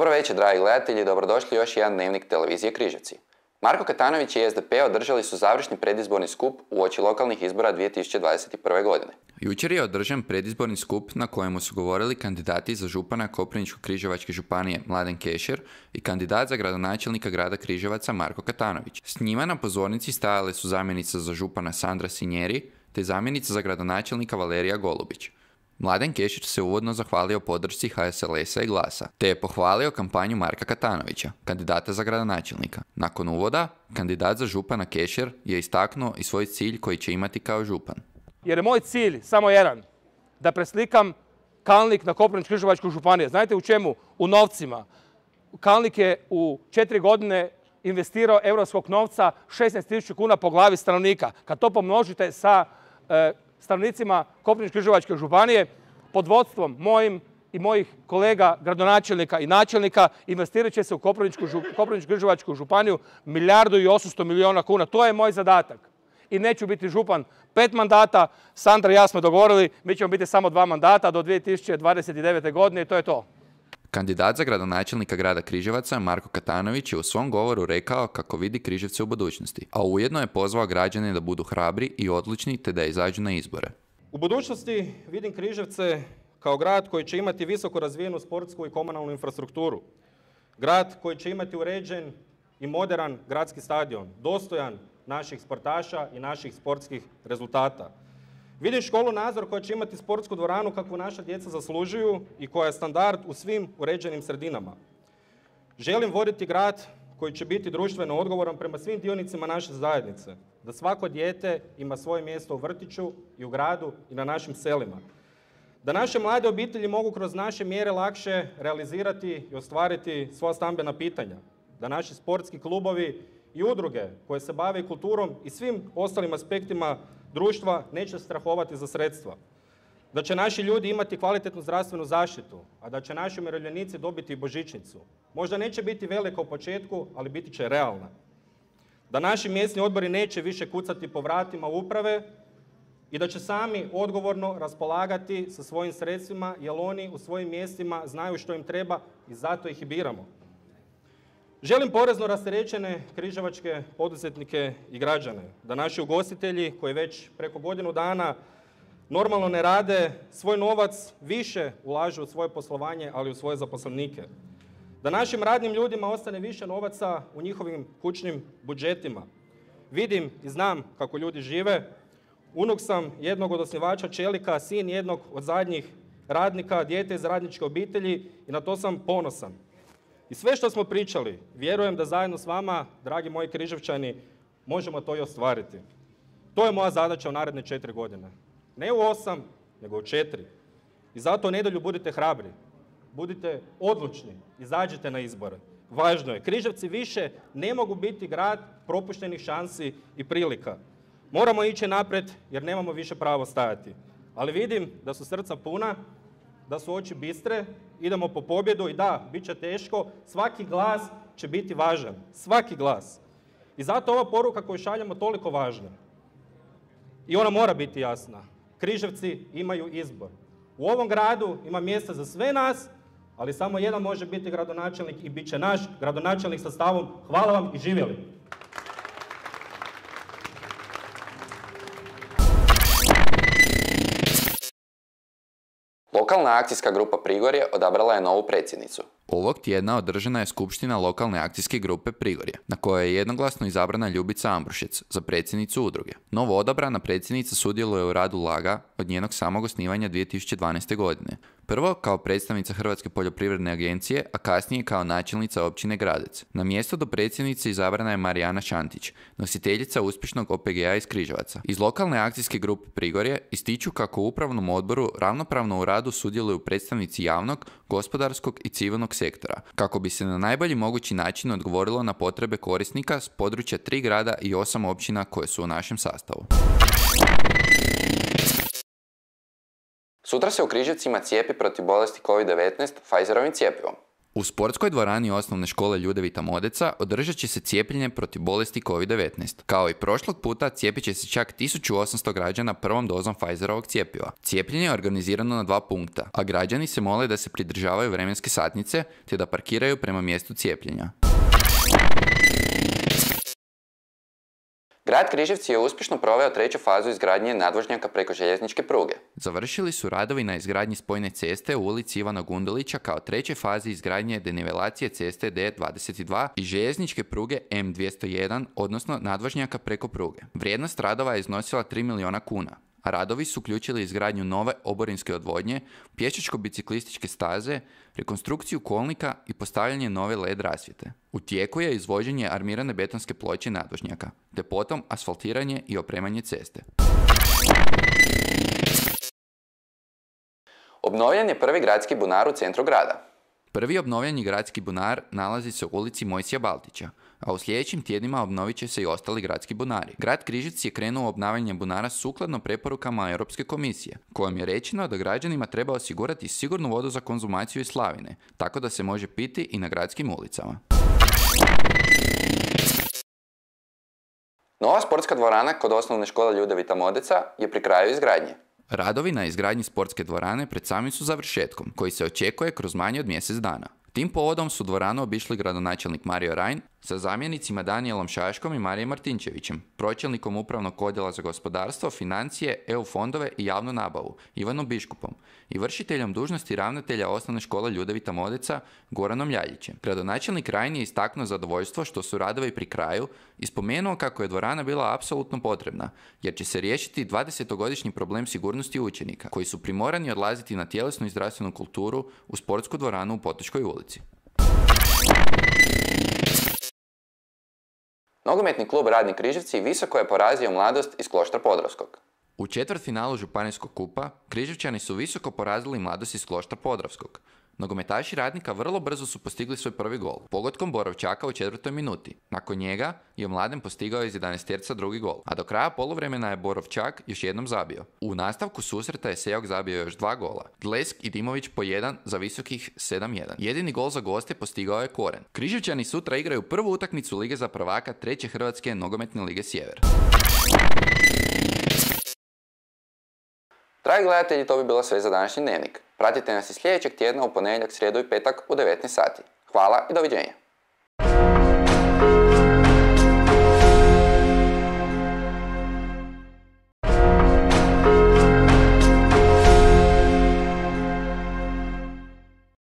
Dobro večer, dragi gledatelji, dobrodošli u još jedan dnevnik televizije Križevci. Marko Katanović i SDP održali su završni predizborni skup uoči lokalnih izbora 2021. godine. Jučer je održan predizborni skup na kojemu su govorili kandidati za župana Koprivničko-križevačke županije Mladen Kešer i kandidat za gradonačelnika grada Križevaca Marko Katanović. S njima na pozornici stajale su zamjenica za župana Sandra Sinjeri te zamjenica za gradonačelnika Valerija Golubić. Mladen Kešer se uvodno zahvalio podršci HSLS-a i Glasa, te je pohvalio kampanju Marka Katanovića, kandidata za gradonačelnika. Nakon uvoda, kandidat za župana Kešer je istaknuo i svoj cilj koji će imati kao župan. Jer je moj cilj samo jedan, da preslikam Kalnik na Koprivničko-križevačku županiju. Znate u čemu? U novcima. Kalnik je u 4 godine investirao europskog novca 16.000 kuna po glavi stanovnika. Kad to pomnožite sa stanovnicima Koprivničko-križevačke županije, pod vodstvom mojim i mojih kolega gradonačelnika i načelnika investirat će se u Koprivničko-križevačku županiju 1.800.000.000 kuna. To je moj zadatak. I neću biti župan 5 mandata. Sandra i ja smo dogovorili, mi ćemo biti samo 2 mandata do 2029. godine i to je to. Kandidat za gradonačelnika grada Križevaca Marko Katanović je u svom govoru rekao kako vidi Križevce u budućnosti, a ujedno je pozvao građane da budu hrabri i odlučni te da izađu na izbore. U budućnosti vidim Križevce kao grad koji će imati visoko razvijenu sportsku i komunalnu infrastrukturu. Grad koji će imati uređen i moderan gradski stadion, dostojan naših sportaša i naših sportskih rezultata. Vidim školu Nazor koja će imati sportsku dvoranu kakvu naša djeca zaslužuju i koja je standard u svim uređenim sredinama. Želim voditi grad koji će biti društveno odgovoran prema svim dionicima naše zajednice. Da svako dijete ima svoje mjesto u vrtiću i u gradu i na našim selima. Da naše mlade obitelji mogu kroz naše mjere lakše realizirati i ostvariti svoja stambena pitanja. Da naši sportski klubovi i udruge koje se bave kulturom i svim ostalim aspektima društva neće strahovati za sredstva. Da će naši ljudi imati kvalitetnu zdravstvenu zaštitu, a da će naši umirovljenici dobiti božićnicu. Možda neće biti velika u početku, ali biti će realna. Da naši mjesni odbori neće više kucati po vratima uprave i da će sami odgovorno raspolagati sa svojim sredstvima, jer oni u svojim mjestima znaju što im treba i zato ih i biramo. Želim porezno rasterećene križevačke poduzetnike i građane, da naši ugostitelji koji već preko godinu dana normalno ne rade, svoj novac više ulažu u svoje poslovanje, ali u svoje zaposlenike. Da našim radnim ljudima ostane više novaca u njihovim kućnim budžetima. Vidim i znam kako ljudi žive. Unuk sam jednog od osnivača Čelika, sin jednog od zadnjih radnika, dijete iz radničke obitelji i na to sam ponosan. I sve što smo pričali, vjerujem da zajedno s vama, dragi moji Križevčani, možemo to i ostvariti. To je moja zadaća u naredne 4 godine. Ne u 8, nego u 4. I zato u nedjelju budite hrabri, budite odlučni, izađite na izbore. Važno je, Križevci više ne mogu biti grad propuštenih šansi i prilika. Moramo ići naprijed jer nemamo više pravo stajati. Ali vidim da su srca puna, da su oči bistre, idemo po pobjedu i da, bit će teško, svaki glas će biti važan, svaki glas. I zato ova poruka koju šaljemo toliko važna. I ona mora biti jasna. Križevci imaju izbor. U ovom gradu ima mjesta za sve nas, ali samo jedan može biti gradonačelnik i bit će naš gradonačelnik sa stavom hvala vam i živjeli. Lokalna akcijska grupa Prigorje odabrala je novu predsjednicu. Ovog tjedna održana je skupština lokalne akcijske grupe Prigorje, na kojoj je jednoglasno izabrana Ljubica Ambrušec za predsjednicu udruge. Novo odabrana predsjednica sudjeluje u radu LAG-a od njenog samog osnivanja 2012. godine. Prvo kao predstavnica Hrvatske poljoprivredne agencije, a kasnije kao načelnica općine Gradec. Na mjesto do predsjednice izabrana je Marijana Šantić, nositeljica uspješnog OPG-a iz Križevaca. Iz lokalne akcijske grupe Prigorje ističu kako u upravnom odboru ravnopravno u radu sudjeluju predstavnici javnog, gospodarskog i civilnog sektora, kako bi se na najbolji mogući način odgovorilo na potrebe korisnika s područja 3 grada i 8 općina koje su u našem sastavu. Sutra se u Križevcima cijepi protiv bolesti COVID-19 Pfizerovim cjepivom. U sportskoj dvorani osnovne škole Ljudevita Modeca održat će se cijepljenje protiv bolesti COVID-19. Kao i prošlog puta cijepit će se čak 1800 građana prvom dozom Pfizerovog cjepiva. Cijepljenje je organizirano na 2 punkta, a građani se mole da se pridržavaju vremenske satnice te da parkiraju prema mjestu cijepljenja. Grad Križevci je uspješno proveo 3. fazu izgradnje nadvožnjaka preko željezničke pruge. Završili su radovi na izgradnji spojne ceste u ulici Ivana Gundulića kao 3. fazi izgradnje denivelacije ceste D22 i željezničke pruge M201, odnosno nadvožnjaka preko pruge. Vrijednost radova je iznosila 3 milijuna kuna. A radovi su uključili izgradnju nove oborinske odvodnje, pješačko-biciklističke staze, rekonstrukciju kolnika i postavljanje nove LED rasvjete. U tijeku je izvođenje armirane betonske ploče nadvožnjaka, te potom asfaltiranje i opremanje ceste. Obnovljen je prvi gradski bunar u centru grada. Prvi obnovljeni gradski bunar nalazi se u ulici Mojsija Baltića, a u sljedećim tjednima obnovit će se i ostali gradski bunari. Grad Križevci je krenuo u obnavljanje bunara sukladno preporukama Europske komisije, kojom je rečeno da građanima treba osigurati sigurnu vodu za konzumaciju iz slavine, tako da se može piti i na gradskim ulicama. Nova sportska dvorana kod osnovne škole Ljudevita Modeca je pri kraju izgradnje. Radovi na izgradnji sportske dvorane pred samim su završetkom, koji se očekuje kroz manje od mjesec dana. Tim povodom su dvoranu obišli gradonačelnik Mario Rajn sa zamjenicima Danijelom Šaškom i Marijem Martinčevićem, pročelnikom Upravnog odjela za gospodarstvo, financije, EU fondove i javnu nabavu Ivanom Biškupom i vršiteljom dužnosti ravnatelja osnovne škole Ljudevita Modeca Goranom Ljaljićem. Gradonačelnik Rajn je istaknuo zadovoljstvo što su radovi pri kraju i spomenuo kako je dvorana bila apsolutno potrebna, jer će se riješiti 20-godišnji problem sigurnosti učenika, koji su primorani odlaziti na tjelesnu i zdravstvenu kulturu u sportsku dvoranu u Potočkoj ulici. Nogometni klub Radnik Križevci visoko je porazio Mladost iz Kloštra Podravskog. U četvrtfinalu Županijskog kupa Križevčani su visoko porazili Mladost iz Kloštra Podravskog. Nogometaši Radnika vrlo brzo su postigli svoj prvi gol, pogodkom Borovčaka u 4. minuti. Nakon njega je Mladen postigao iz 11-terca drugi gol, a do kraja poluvremena je Borovčak još jednom zabio. U nastavku susreta je Sejok zabio još 2 gola. Dlesk i Dimović po 1 za visokih 7-1. Jedini gol za goste postigao je Koren. Križevčani sutra igraju prvu utakmicu Lige za prvaka 3. Hrvatske nogometne lige Sjever. Dragi gledatelji, to bi bilo sve za današnji dnevnik. Pratite nas i sljedećeg tjedna u ponedjeljak, srijedu i petak u 19 sati. Hvala i doviđenja.